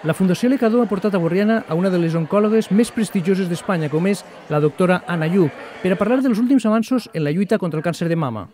La Fundació Lecador ha portat a Borriana a una de les oncòlogues més prestigioses d'Espanya, com és la doctora Anna Lluch, per a parlar dels últims avanços en la lluita contra el càncer de mama.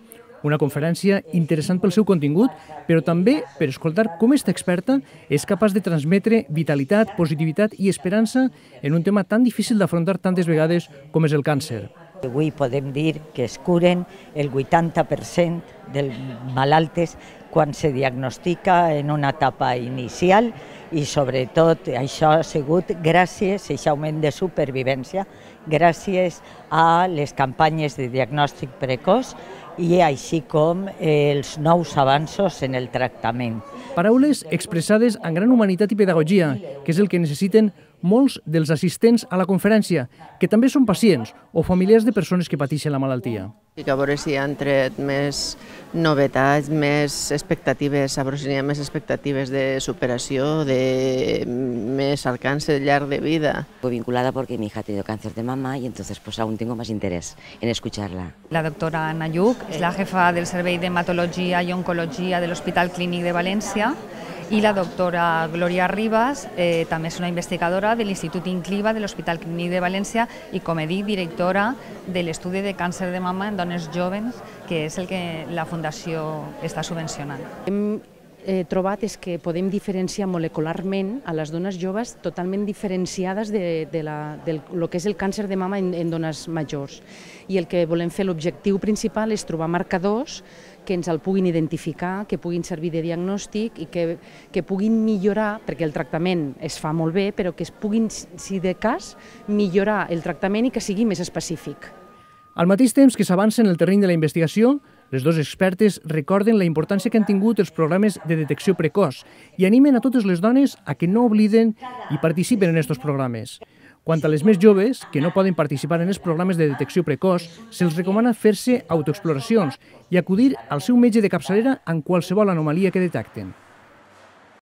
Una conferència interessant pel seu contingut, però també per escoltar com esta experta és capaç de transmetre vitalitat, positivitat i esperança en un tema tan difícil d'afrontar tantes vegades com és el càncer. Avui podem dir que es curen el 80% dels malaltes quan se diagnostica en una etapa inicial i sobretot això ha sigut gràcies a aquest augment de supervivència, gràcies a les campanyes de diagnòstic precoç i així com els nous avanços en el tractament. Paraules expressades amb gran humanitat i pedagogia, que és el que necessiten molts dels assistents a la conferència, que també són pacients o familiars de persones que pateixen la malaltia. I que a veure si han tret més novetats, més expectatives, a veure si hi ha més expectatives de superació, de més alcance llarg de vida. Fue vinculada porque mi hija ha tenido cáncer de mama y entonces pues aún tengo más interés en escucharla. La doctora Anna Lluch és la jefa del Servei d'Hematologia i Oncologia de l'Hospital Clínic de València i la doctora Gloria Ribas també és una investigadora de l'Institut Incliva de l'Hospital Clínic de València i, com he dit, directora de l'estudi de càncer de mama en dones joves, que és el que la Fundació està subvencionant. Hem trobat és que podem diferenciar molecularment a les dones joves totalment diferenciades de lo que és el càncer de mama en dones majors. I el que volem fer, l'objectiu principal és trobar marcadors que ens el puguin identificar, que puguin servir de diagnòstic i que puguin millorar, perquè el tractament es fa molt bé, però que es puguin, si de cas, millorar el tractament i que sigui més específic. Al mateix temps que s'avança en el terreny de la investigació, les dues expertes recorden la importància que han tingut els programes de detecció precoç i animen a totes les dones a que no obliden i participen en aquests programes. Quant a les més joves, que no poden participar en els programes de detecció precoç, se'ls recomana fer-se autoexploracions i acudir al seu metge de capçalera en qualsevol anomalia que detecten.